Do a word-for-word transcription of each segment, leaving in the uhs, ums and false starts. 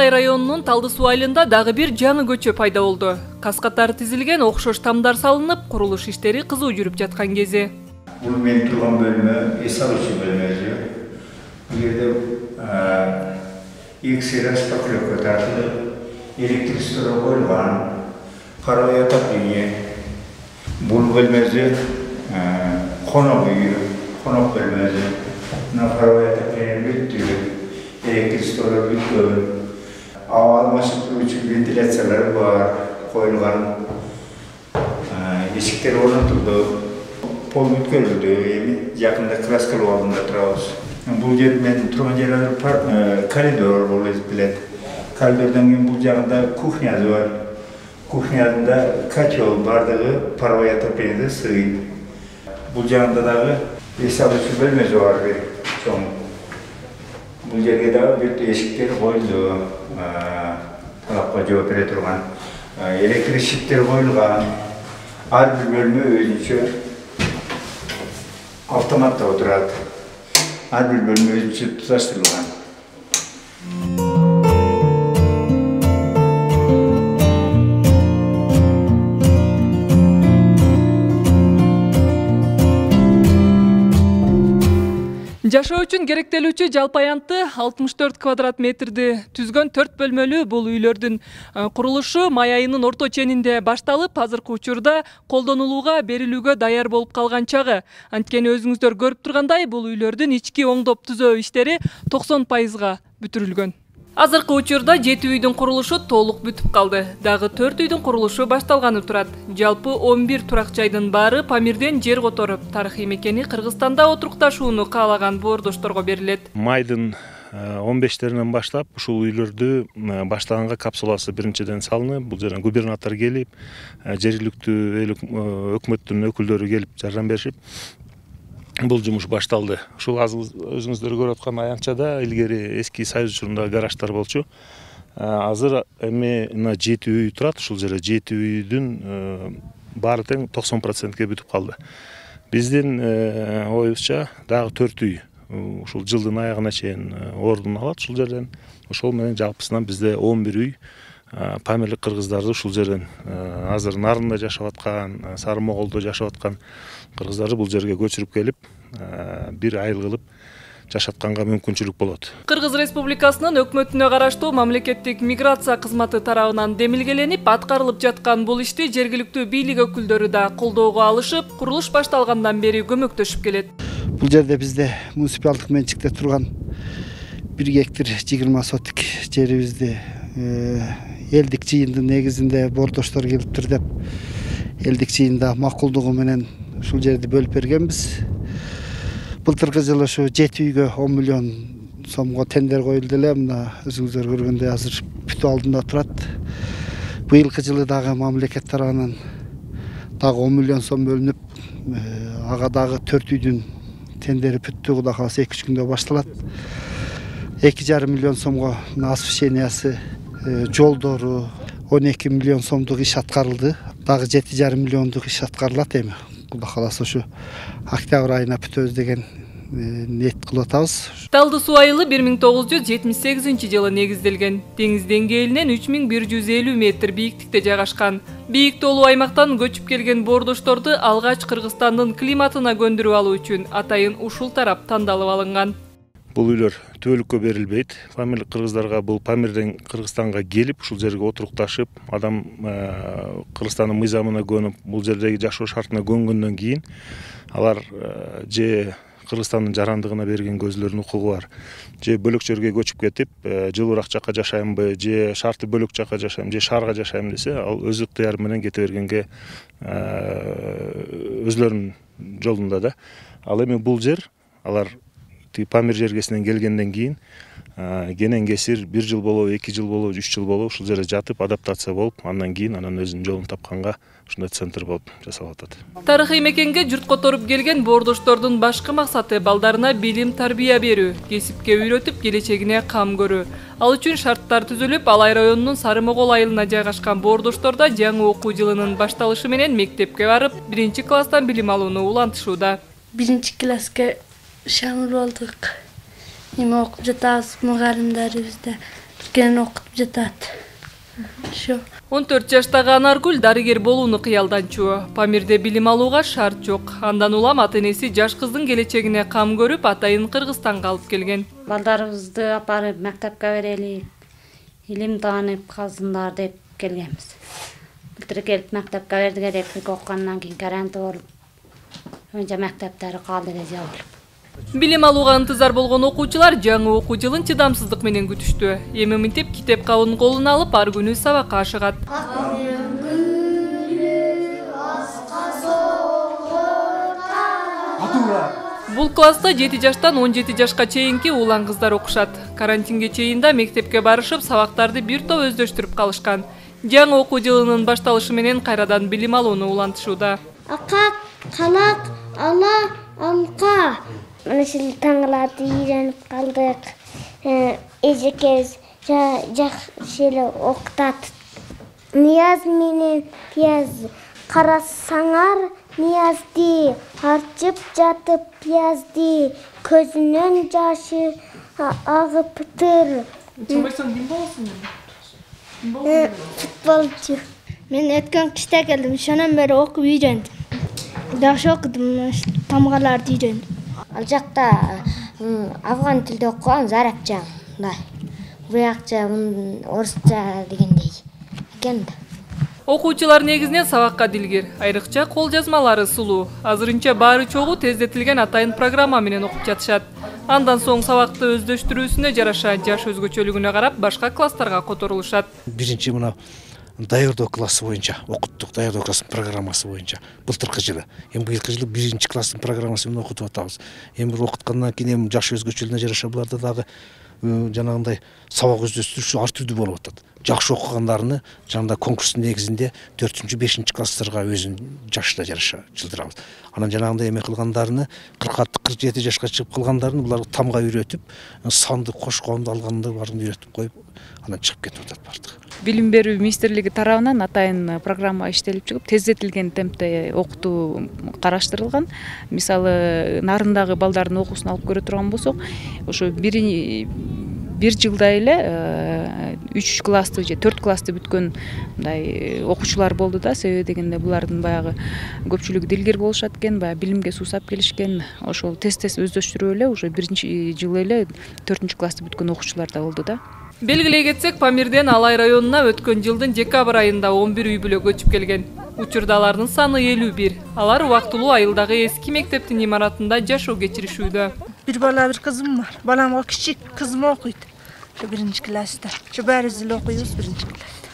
Алай районунун Талды суу айылында дагы бир жаңы көчө пайда болду. Каскаттары тизилген окшош тамдар салынып, курулуш иштери кызуу жүрүп жаткан кези. Бул мен турган бөлмө эс алуучу бөлмө. Бул жерде экс распаклёвка тартылып, электричество коюлган, паровое отопление. Бул бөлмөдө конок үй, конок бөлмөдө на паровое отопление бүттү, электричество бүткөн. Аба алмашып турчу вентиляциялар бар, коюлган. Эшиктер орнотулду, пол бүткөрүлдү, эми жакында краскалоо алдында турабыз. Бул жер мен турган жер коридор болуп эсептелет. Коридордон кийин бул жагында кухнясы бар. Кухнядында котел бардыгы паровое отоплениеде сыйт. Бул жагында дагы эс алуучу бөлмөсү бар бир чоң. Бул жерге дагы бүт эшиктер коюлду, талапка жооп бере турган. Электр щиттер коюлган. Ар бир бөлмө өзүнчө автоматта отурат. Ар бир бөлмө өзүнчө туташтырылган. Жашоо үчүн керектелүүчү жалпы аянты алтымыш төрт квадрат метрди түзгөн төрт бөлмөлүү бул үйлөрдүн курулушу май айынын орто ченинде башталып, азыркы учурда колдонулууга берилүүгө даяр болуп калган чагы. Анткени өзүңүздөр көрүп тургандай, бул үйлөрдүн ички оңдоп түзөө иштери токсон пайызга бүтүрүлгөн. Азыркы учурда жети үйдүн курулушу толук бүтүп калды. Дагы төрт үйдүн курулушу башталганы турат. Жалпы он бир турак жайдын баары Памирден жер которуп, тарыхый мекени Кыргызстанда отурукташууну каалаган боордошторго берилет. Майдын он бештеринен баштап ушул үйлөрдү баштаганга капсуласы биринчиден салынып, бул жерден губернатор келип, жергиликтүү эл өкмөттүн өкүлдөрү келип жардам беришип, бул жумуш башталды. Ушул өзүңүздөр көрүп аткан аянтчада илгери эски Союз учурунда гараждар болчу. Азыр эми мына жети үй турат. Ушул жерде жети үйдүн баары тең токсон процентке бүтүп калды. Биздин оюбузча дагы төрт үй ушул жылдын аягына чейин ордун алат ушул жерден. Ошол менен жалпысынан бизде он бир үй памирлик кыргыздарды ушул жерден азыр Нарында жашап аткан, Сары Моголдо жашап аткан кыргыздарды бул жерге көчүрүп келип, бир айыл кылып жашатканга мүмкүнчүлүк болот. Кыргыз Республикасынын өкмөтүнө караштуу мамлекеттик миграция кызматы тарабынан демилгеленип аткарылып жаткан бул ишти жергиликтүү бийлик өкүлдөрү да колдоого алышып, курулуш башталгандан бери көмөктөшүп келет. Бул жерде бизде муниципалдык менчикте турган бир гектар жыйырма сотик жерибизди элдик жыйындын негизинде боордоштор келиптир деп, элдик жыйында макулдугу менен ушул жерди бөлүп бергенбиз. Былтыркы жылы ушу жети үйгө он миллион сомго тендер коюлду эле. Мына өзүңүздөр көргөндөй азыр бүтүү алдында турат. Быйылкы жылы дагы мамлекет тарабынан дагы он миллион сом бөлүнүп, ага дагы төрт үйдүн тендери бүттү. Кудай кааласа эки үч күндө башталат. эки жарым миллион сомго освещениясы, жолдору он эки миллион сомдук иш аткарылды. Дагы жети жарым миллиондук иш аткарылат эми. Кудай кааласа ушу октябрь айына бүтөбүз деген ниет кылып атабыз. Талды суу айылы бир миң тогуз жүз жетимиш сегизинчи жылы негизделген. Деңиз деңгээлинен үч миң бир жүз элүү метр бийиктикте жайгашкан. Бийик тоолуу аймактан көчүп келген боордошторду алгач Кыргызстандын климатына көндүрүп алуу үчүн атайын ушул тарап тандалып алынган. Бул үйлөр түбөлүккө берилбейт. Памирлик кыргыздарга бул Памирден Кыргызстанга келип, ушул жерге отурукташып, адам Кыргызстандын мыйзамына көнүп, бул жердеги жашоо шартына көнгөндөн кийин алар же Кыргызстандын жарандыгына берген көзлөрүнүн укугу бар. Же бөлөк жерге көчүп кетип, жылуураак жакка жашаймынбы, же шарты бөлөк жакка жашайм, же шаарга жашайм десе, ал өз ыктыяры менен кете бергенге өзлөрүнүн жолунда да. Ал эми бул жер алар Памир жергесинен келгенден кийин кенен кесир бир жыл болобу, эки жыл болобу, үч жыл болобу ушул жерде жатып, адаптация болуп, андан кийин анан өзүнүн жолун тапканга ушундай центр болуп жасалып атат. Тарыхый мекенге журт которуп келген боордоштордун башкы максаты балдарына билим, тарбия берүү, кесипке үйрөтүп, келечегине кам көрүү. Ал үчүн шарттар түзүлүп, Алай районунун Сары Могол айылына жайгашкан боордоштордо жаңы окуу жылынын башталышы менен мектепке барып, биринчи класстан билим алууну улантышууда. Биринчи класска шамыл болдук. Эми окуп жатабыз, мугалимдерибизде биринчиден окуп жатат. Ошо. он төрт жаштагы Анаргүл дарыгер болууну кыялданчу. Памирде билим алууга шарт жок. Андан улам ата-энеси жаш кыздын келечегине кам көрүп, атайын Кыргызстанга алып келген. Балдарыбызды апарып мектепке берели, илим таанып калсындар деп келгенбиз. Былтыр келип мектепке бердик элек, окугандан кийин карантин болуп, önce мектептери калды эле жабылып. Билим алууга ынтызар болгон окуучулар жаңы окуу жылын чыдамсыздык менен күтүштү. Эми мынтип китеп кабын колуна алып, ар күнү сабакка ашыгат. Бул класста жети жаштан он жети жашка чейинки улан кыздар окушат. Карантинге чейин да мектепке барышып, сабактарды бир топ өздөштүрүп калышкан. Жаңы окуу жылынын башталышы менен кайрадан билим алууну улантышууда. Акак, калак, ала, алка. Ушул таңларды үйрөнүп калдык. Эжекебиз жакшы эле окутат. Нияз менен пияз карасаңар, Ниязди арчып жатып пиязди, көзүнөн жашы агыптыр. Чамайсаң ким болосуң? Футболчу. Мен өткөн кышта келдим, ошондон бери окуп үйрөндүм. Жакшы окудум, тамгаларды үйрөндүм. Ал жакта афган тилде окуган, арабча, мындай. Буякча, орусча дегендей экен да. Окуучулар негизинен сабакка дилгир, айрыкча кол жазмалары сулуу. Азырынча баары чогуу тездетилген атайын программа менен окуп жатышат. Андан соң сабакты өздөштүрүүсүнө жараша жаш өзгөчөлүгүнө карап башка класстарга которулушат. Биринчи мына даярдоо классы боюнча, окуттук даярдоо класстын программасы боюнча былтыркы жылы. Эми быйылкы жылы биринчи класстын программасы менен окутуп атабыз. Эми бир окуткандан кийин эми жаш өзгөчөлүгүнө жараша буларда дагы жанагындай сабак өздөштүрүү ар түрдүү болуп атат. Жакшы окугандарны жанагындай конкурстун негизинде төртүнчү бешинчи класстарга өзүнүн жашына жараша жылдырабыз. Анан жанагындай эме кылгандарны кырк алты кырк жети жашка чыгып калгандарны булар тамга үйрөтүп, санды кошконду алганды баарын үйрөтүп коюп, анан чыгып кетип атат бардыгы. Билим берүү министрлиги тарабынан атайын программа иштелип чыгып, тездетилген темпте окутуу караштырылган. Мисалы, нарындагы балдардын окуусун алып көрө турган болсок, ошо бир бир жылда эле үч классты же төрт классты бүткөн мындай окуучулар болду да. Себеби дегенде булардын баягы көпчүлүгү дилгер болушат экен, баягы билимге суусап келишкен. Ошол тез-тез өздөштүрүп эле уже биринчи жылы эле төртүнчү классты бүткөн окуучулар да болду да. Белгилей кетсек, Памирден Алай районуна өткөн жылдын декабрь айында он бир үй бүлө көчүп келген. Учурда алардын саны элүү бир. Алар убактылуу айылдагы эски мектептин имаратында жашоо кечиришүүдө. Bir bala bir kızım var. Balam o küçük, kızım okuydu. Şu birinci klasta. Şu berizli okuyoruz birinci klasta.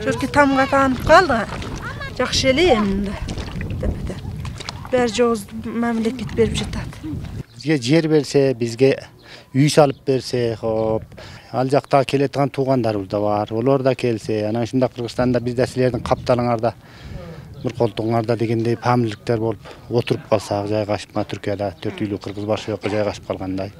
Çünkü tam katanıp kaldı. Жақсы эле эмне. Депте. Бер жоз мамлекет берип жатат. Бизге жер берсе, бизге үй салып берсе, хоп. Ал жакта келеткен туугандарыбыз да бар. Олар да келсе, анан ушунда Кыргызстанда бизде силердин капталыңарда bir koltuğunlarda degендей памирликтер болуп отуруп калсак, жайгашып, мына Түркияда төрт үйлүү кыргыз баш жакка жайгашып калгандай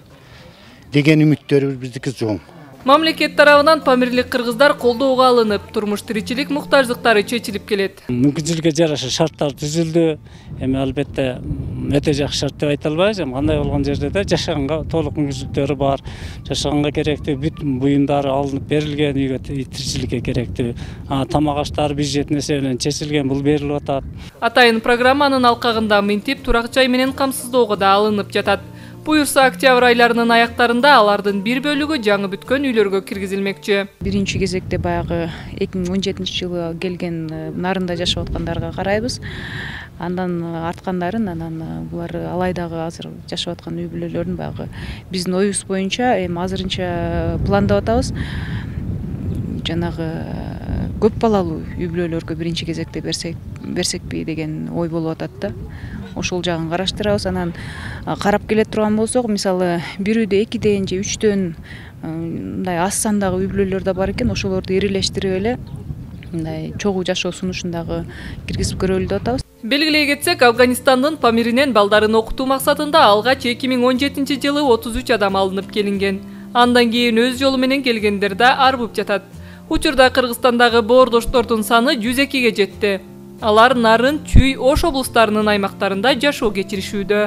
деген үмүттөрүбүз биздики жоң. Мамлекет тарабынан памирлик кыргыздар колдоого алынып, турмуш тиричилик муктаждыктары чечилип келет. Мүмкүнчүлүккө жараша шарттар түзүлдү. Эми албетте өтө жакшы шарт деп айта албайбыз. Эми кандай болгон жерде да жашаганга толук мүмкүнчүлүктөрү бар. Жашаганга керектүү бүт буюмдары алынып берилген, үйгө тиричиликке керектүү тамак аштар бюджеттин эсебинен чечилген, бул берилип атат. Атайын программанын алкагында мынтип турак жай менен камсыздоого да алынып жатат. Буюрса октябрь айларынын аяктарында алардын бир бөлүгү жаңы бүткөн үйлөргө киргизилмекчи. Биринчи кезекте баягы эки миң он жетинчи жылы келген нарында жашап аткандарга карайбыз. Андан арткандарын анан булар Алайдагы азыр жашап аткан үй бүлөлөрүн баягы биздин оюбуз боюнча эми азырынча пландап атабыз. Жанагы көп балалуу үй бүлөлөргө биринчи кезекте берсек берсекпи деген ой болуп атат да. Ошол жагын караштырабыз. Анан карап келе турган болсок, мисалы бир үйдө экиден же үчтөн мындай аз сандагы үй бүлөлөр да бар экен. Ошолорду ирилештирип эле мындай чогуу жашоо сунушундагы киргизип көрөлү деп атабыз. Белгилей кетсек, Афганистандын Памиринен балдарын окутуу максатында алгач эки миң он жетинчи жылы отуз үч адам алынып келинген. Андан кийин өз жолу менен келгендер да арбып жатат. Учурда Кыргызстандагы боордоштордун саны жүз экиге жетти. Алар Нарын, Чүй, Ош облустарынын аймактарында жашоо кечиришүүдө.